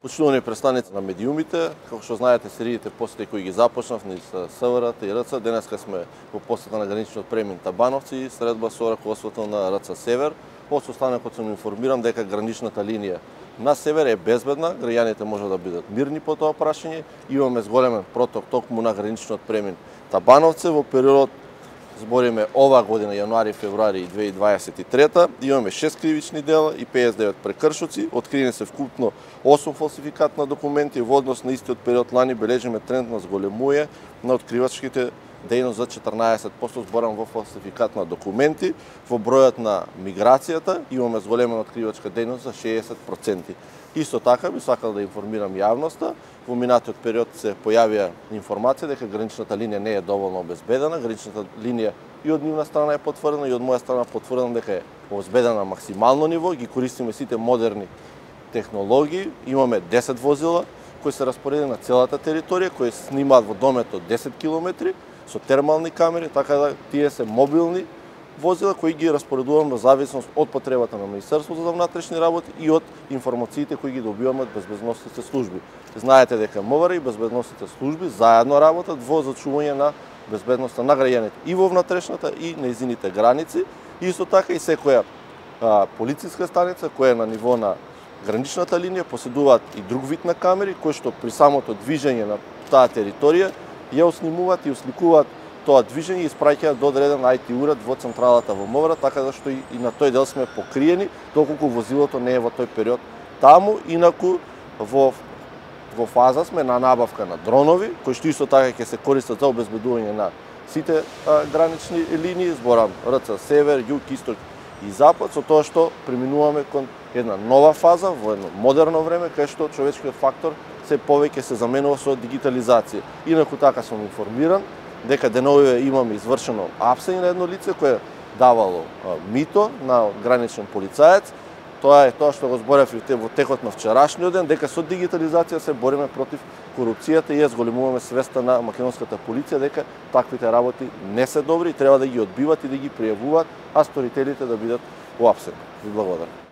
Почитувани представници на медиумите, како што знаете, сериите посети кои ги започнав низ СВР и РЦ, денеска сме во посета на граничниот премин Табановци и средба со раководството на РЦ Север. Од состанокот сум информиран дека граничната линија на север е безбедна, граѓаните може да бидат мирни по тоа прашање. Имаме зголемен проток токму на граничниот премин Табановци во периодот, збориме ова година, јануари, февруари 2023, имаме 6 кривични дела и 59 прекршоци, откриени се вкупно 8 фалсификат на документи. Во однос на истиот период лани бележиме тренд на зголемување на откривачките дејност за 14%, зборам во фалсификат на документи. Во бројот на миграцијата имаме зголемена откривачка дејност за 60%. Исто така би сакал да информирам јавноста, во минатиот период се појавија информација дека граничната линија не е доволно обезбедена. Граничната линија и од нивна страна е потврдена и од моја страна потврдена дека е обезбедена на максимално ниво. Ги користиме сите модерни технологии. Имаме 10 возила кои се распоредени на целата територија, кои снимаат во домет од 10 км со термални камери, така да тие се мобилни возила кои ги распоредуваме во зависност од потребата на Министерството за внатрешни работи и од информациите кои ги добиваме од безбедносните служби. Знаете дека МВР и безбедносните служби заедно работат во зачување на безбедноста на граѓаните и во внатрешната и нејзините граници. Исто така и секоја полициска станица која е на ниво на граничната линија поседуваат и друг вид на камери кои што при самото движење на таа територија ја оснимуваат и осликуваат тоа движење и испраќаат до одреден IT уред во централата во МВР, така да што и на тој дел сме покриени, доколку возилото не е во тој период таму. Инаку во фаза сме на набавка на дронови, кои што исто така ќе се користат за обезбедување на сите гранични линии, зборам РЦ Север, Југ, Исток и Запад, со тоа што преминуваме кон една нова фаза, во едно модерно време, кај што човечкиот фактор се повеќе се заменува со дигитализација. Инаку така сум информиран дека деновиве имаме извршено апсење на едно лице кое давало мито на граничен полицаец. Тоа е тоа што го зборев во текот на вчерашниот ден, дека со дигитализација се бориме против корупцијата и ја зголемуваме свеста на македонската полиција дека таквите работи не се добри и треба да ги одбиват и да ги пријавуваат, а сторителите да бидат уапсени. Ви благодарам.